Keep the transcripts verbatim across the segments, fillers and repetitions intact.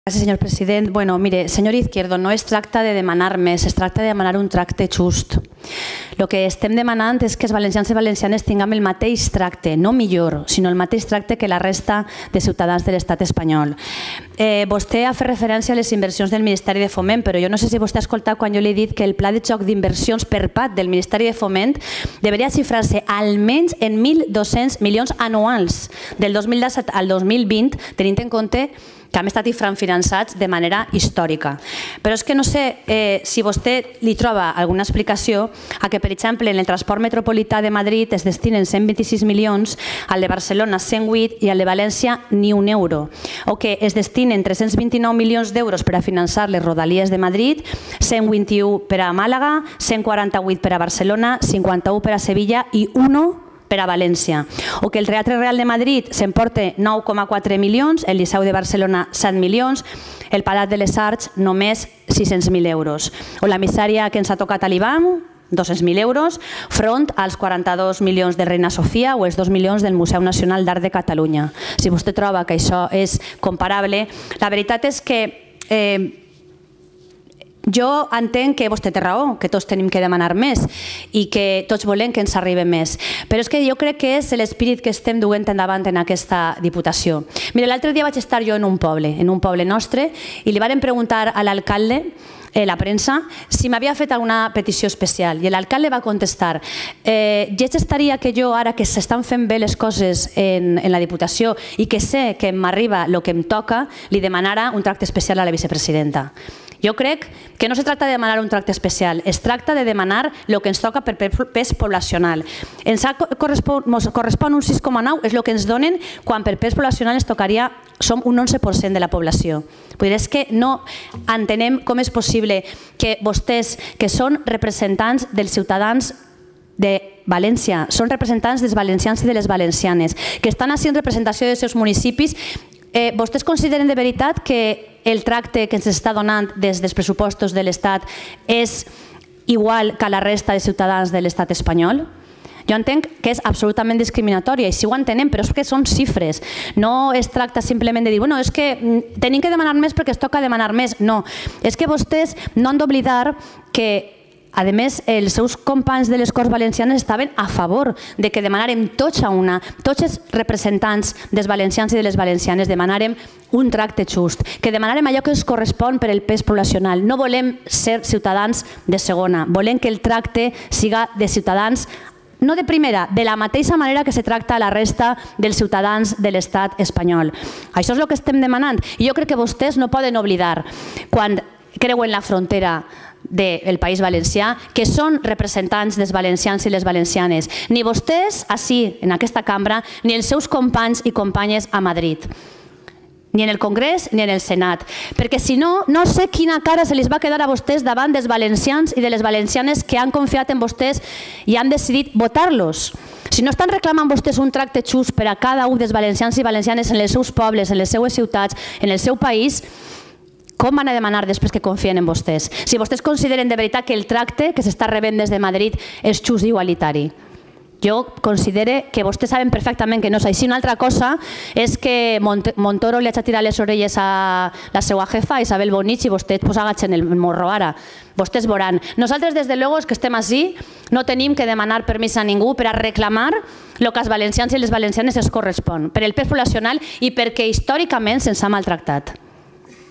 Gràcies, senyor president. Bueno, mire, senyor Izquierdo, no es tracta de demanar més, es tracta de demanar un tracte just. El que estem demanant és que els valencians i valencianes tinguem el mateix tracte, no millor, sinó el mateix tracte que la resta de ciutadans de l'estat espanyol. Eh, vostè ha fet referència a les inversions del Ministeri de Foment, però jo no sé si vostè ha escoltat quan jo li he dit que el pla de xoc d'inversions per part del Ministeri de Foment deveria xifrar-se almenys en mil dos-cents milions anuals del dos mil disset al dos mil vint, tenint en compte que han estat infrafinançats de manera històrica. Però és que no sé eh, si vostè li troba alguna explicació a que, per exemple, en el transport metropolità de Madrid es destinen cent vint-i-sis milions, al de Barcelona cent vuit i al de València ni un euro. O que es destinen tres-cents vint-i-nou milions d'euros per a finançar les rodalies de Madrid, cent vint-i-u per a Màlaga, cent quaranta-vuit per a Barcelona, cinquanta-u per a Sevilla i un per a València. O que el Teatre Real de Madrid s'emporta nou coma quatre milions, el Liceu de Barcelona set milions, el Palat de les Arts només sis-cents mil euros. O la misèria que ens ha tocat a l'I B A M, dos-cents mil euros, front als quaranta-dos milions de Reina Sofia o els dos milions del Museu Nacional d'Art de Catalunya. Si vostè troba que això és comparable, la veritat és que eh, jo entenc que vostè té raó, que tots tenim que demanar més i que tots volem que ens arribi més. Però és que jo crec que és l'espírit que estem duent endavant en aquesta Diputació. Mira, l'altre dia vaig estar jo en un poble, en un poble nostre, i li varen preguntar a l'alcalde, la premsa, si m'havia fet alguna petició especial. I l'alcalde va contestar, lleig estaria que jo, ara que s'estan fent bé les coses en la Diputació i que sé que m'arriba el que em toca, li demanara un tracte especial a la vicepresidenta. Jo crec que no se tracta de demanar un tracte especial, es tracta de demanar el que ens toca per pes poblacional. Ens correspon un sis coma nou, és el que ens donen quan per pes poblacional ens tocaria, som un onze per cent de la població. És que no entenem com és possible que vostès, que són representants dels ciutadans de València, són representants dels valencians i de les valencianes, que estan així en representació dels seus municipis, vostès consideren de veritat que el tracte que ens està donant des dels pressupostos de l'Estat és igual que a la resta de ciutadans de l'Estat espanyol? Jo entenc que és absolutament discriminatòria i si ho entenem, però és que són xifres. No es tracta simplement de dir, bueno, és que tenim que demanar més perquè es toca demanar més. No, és que vostès no han d'oblidar que a més, els seus companys de les Corts Valencianes estaven a favor de que demanàrem tots a una, tots els representants dels valencians i de les valencianes, demanàrem un tracte just, que demanàrem allò que ens correspon per el pes poblacional. No volem ser ciutadans de segona, volem que el tracte siga de ciutadans no de primera, de la mateixa manera que se tracta a la resta dels ciutadans de l'estat espanyol. Això és el que estem demanant. I jo crec que vostès no poden oblidar, quan creuen la frontera del País Valencià, que són representants dels valencians i les valencianes. Ni vostès, així, en aquesta cambra, ni els seus companys i companyes a Madrid. Ni en el Congrés ni en el Senat. Perquè si no, no sé quina cara se li va quedar a vostès davant dels valencians i de les valencianes que han confiat en vostès i han decidit votar-los. Si no estan reclamant vostès un tracte just per a cada un dels valencians i valencianes en els seus pobles, en les seues ciutats, en el seu país, com van a demanar després que confien en vostès? Si vostès consideren de veritat que el tracte que s'està rebent des de Madrid és just i igualitari. Jo considero que vostès saben perfectament que no és així. Una altra cosa és que Montoro li ha tirat les orelles a la seva jefa, Isabel Bonich, i vostès agachen el morro ara. Vostès veuran. Nosaltres, des de luego, que estem així, no tenim que demanar permís a ningú per a reclamar el que als valencians i les valencianes es correspon, per el pes poblacional i perquè històricament se'ns ha maltractat.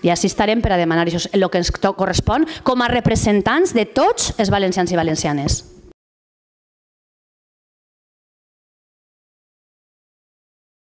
I així estarem per a demanar el que ens correspon com a representants de tots els valencians i valencianes.